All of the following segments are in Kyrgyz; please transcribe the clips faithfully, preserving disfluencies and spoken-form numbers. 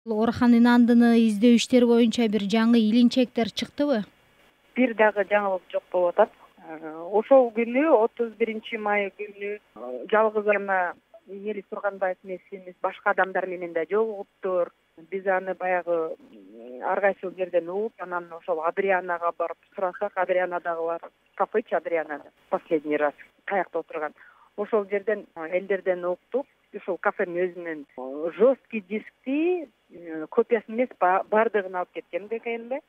Орхан Инандыны издөө иштери боюнча бир жаңы илинчектер чыктыбы? Бир дагы жаңылык жок болуп атат. Ошол күнү отуз биринчи май күнү жалгыз гана Мелис Турганбаев эмес, башка адамдар менен да жолугуптур. Биз аны баягы ар кайсыл жерден угуп, анан ошол Адрианага барып сурасак, Адриана дагы бар. Кафечи Адриана последний раз каякта отурган. Ошол жерден элдерден уктук. Ушул кафенин өзүнөн жесткий дискти копиясы эмес, бардыгын алып кеткен ГКНБ.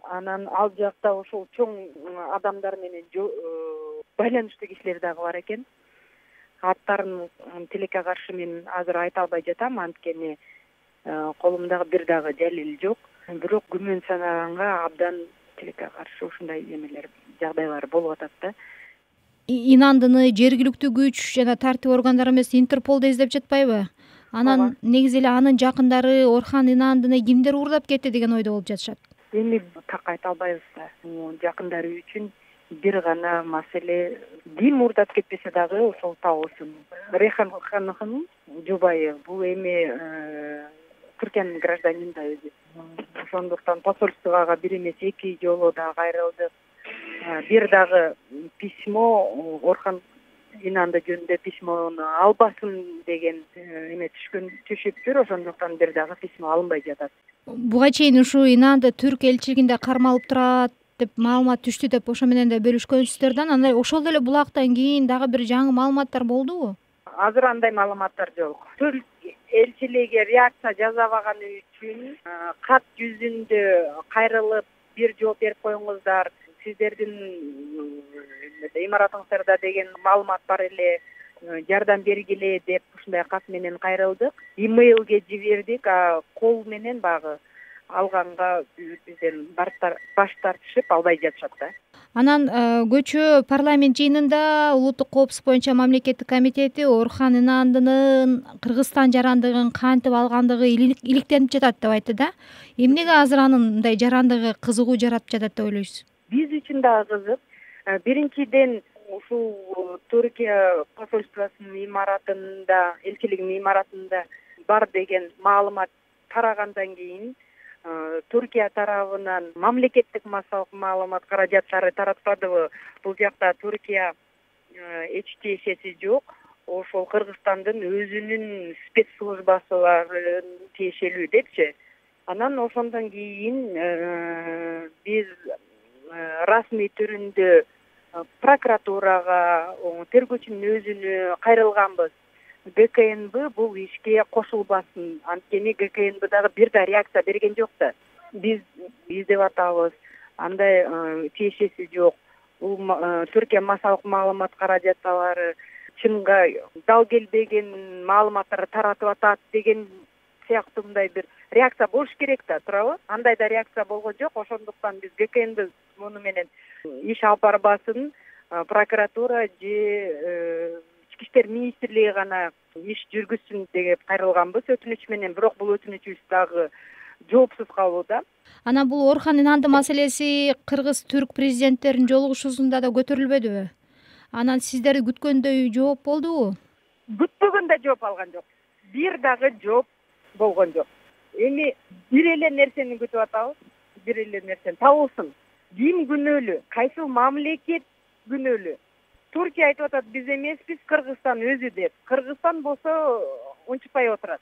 Анан ал жакта ошол чоң адамдар менен байланыштуу кишилер дагы бар экен. Аттарын тилекке каршы мен азыр айта албай жатам, анткени колумдагы бир дагы далил жок. Бирок күмөн санаганга абдан тилекке каршы ушундай эмелер, жагдайлар болуп атат да. Инандыны жергиликтүү күч жана тартип органдары эмес, Интерпол да издеп жатпайбы? Анан негизи эле анын жакындары Орхан Инандыны кимдер уурдап кетти деген ойдо болуп жатышат. Эми так айта албайбыз да. Жакындары үчүн бир гана маселе, ким уурдап кетпесе дагы ошол табылсын. Рейхан Ханымдын жубайы бул эми Түркиянын гражданины да өзү. Ошондуктан посольствого бир эмес эки жолу да кайрылдык. Бир дагы письмо, Орхан Инанды жөнүндө письмону албасын деген эме түшкөн түшүптүр. Ошондуктан бир дагы письмо алынбай жатат. Буга чейин ушу Инанды Түрк элчилигинде кармалып турат деп маалымат түштү деп ошо менен да бөлүшкөнсүздөр да. Андай ошол эле булактан кийин дагы бир жаңы маалыматтар болдубу? Азыр андай маалыматтар жок. Түрк элчилиги реакция жасабаганы үчүн кат жүзүндө кайрылып бир жооп берип коюңуздар, сиздердин имаратыңыздарда деген маалымат бар эле, жардам бергиле деп ушундай кат менен кайрылдык. Имейлге жибердик, а кол менен багы алганга бизден баш тартышып албай жатышат да. Анан көчө парламент жыйынында улуттук коопсуздук боюнча мамлекеттик комитети Орхан Инандынын Кыргызстан жарандыгын кантип алгандыгы иликтенип жатат деп айтты да. Эмнеге азыр анын мындай жарандыгы кызыгуу жаратып жатат деп ойлойсуз? Биз үчүн дагы кызык. Биринчиден ушул Түркия посольствосунун имаратында, элчилигинин имаратында бар деген маалымат тарагандан кийин Түркия тарабынан мамлекеттик массалык маалымат каражаттары таратпадыбы? Бул жакта Түркия эч тиешеси жок. Ошол Кыргызстандын өзүнүн спецслужбасы тиешелүү депчи. Анан ошондон кийин биз расмий түрүндө прокуратурага, тергөөчүнүн өзүнө кайрылганбыз. ГКНБ бул ишке кошулбасын, анткени ГКНБ дагы бир да реакция берген жок да. Биз издеп атабыз, андай тиешеси жок. Бул Түркия массалык маалымат каражаттары чынга дал келбеген маалыматтарды таратып атат деген сыяктуу мындай бир реакция болуш керек да, туурабы? Андай да реакция болгон жок. Ошондуктан биз ГКНБ муну менен иш алып барбасын, прокуратура же Ички иштер министрлиги гана иш жүргүзсүн деп кайрылганбыз өтүнүч менен. Бирок бул өтүнүчүбүз дагы жоопсуз калууда. Анан бул Орхан Инанды маселеси кыргыз-түрк президенттеринин жолугушуусунда да көтөрүлбөдүбү? Анан сиздер күткөндөй жооп болдубу? Күтпөгөндө жооп алган жок. Бир дагы жооп болгон жок. Эми бир эле нерсени күтүп атабыз. Бир эле нерсени табылсын. Ким күнөөлүү? Кайсыл мамлекет күнөөлүү? Түркия айтып атат, биз эмеспиз, Кыргызстан өзү деп. Кыргызстан болсо унчукпай отурат.